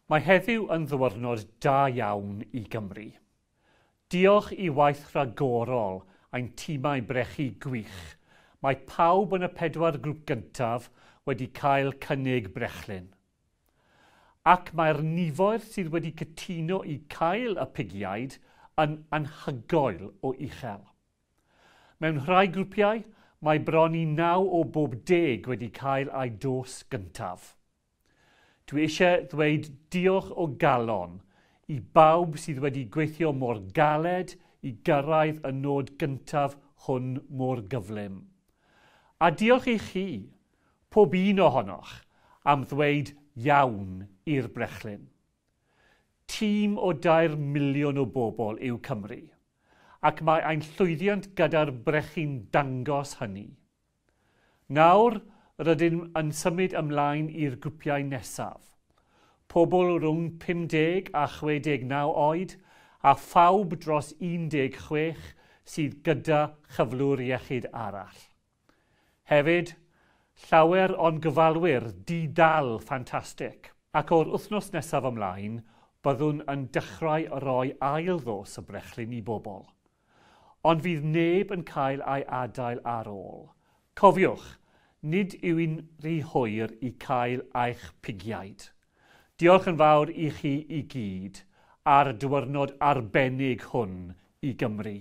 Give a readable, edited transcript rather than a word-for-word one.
Mae heddiw yn ddiwrnod da iawn i Gymru. Diolch i waith rhagorol ein tîmau brechu gwych, mae pawb yn y 4 grŵp gyntaf wedi cael cynnig brechlyn. Ac mae'r nifoedd sydd wedi cytuno i cael y pigiaid yn anhygoel o uchel. Mewn rhai grwpiau, mae bron i 9 o bob 10 wedi cael eu dos gyntaf. Dwi eisiau ddweud diolch o galon i bawb sydd wedi gweithio mor galed i gyrraedd y nod gyntaf hwn mor gyflym. A diolch i chi, pob un ohonoch, am ddweud iawn i'r brechlyn. Tîm o 2 miliwn o bobl yw Cymru, ac mae ein llwyddiant gyda'r brechu'n dangos hynny. Nawr, rydym yn symud ymlaen i'r grwpiau nesaf. Pobl rhwng 50 a 69 oed a phawb dros 16 sydd gyda chyflwr iechyd arall. Hefyd, llawer o'n gyfalwyr di-dal ffantastig, ac o'r wythnos nesaf ymlaen, byddwn yn dechrau rhoi ail ddos y brechlyn i bobl. Ond fydd neb yn cael ei adael ar ôl. Cofiwch, nid yw'n rhy hwyr i cael eich pigiaid. Diolch yn fawr i chi i gyd ar y diwrnod arbennig hwn i Gymru.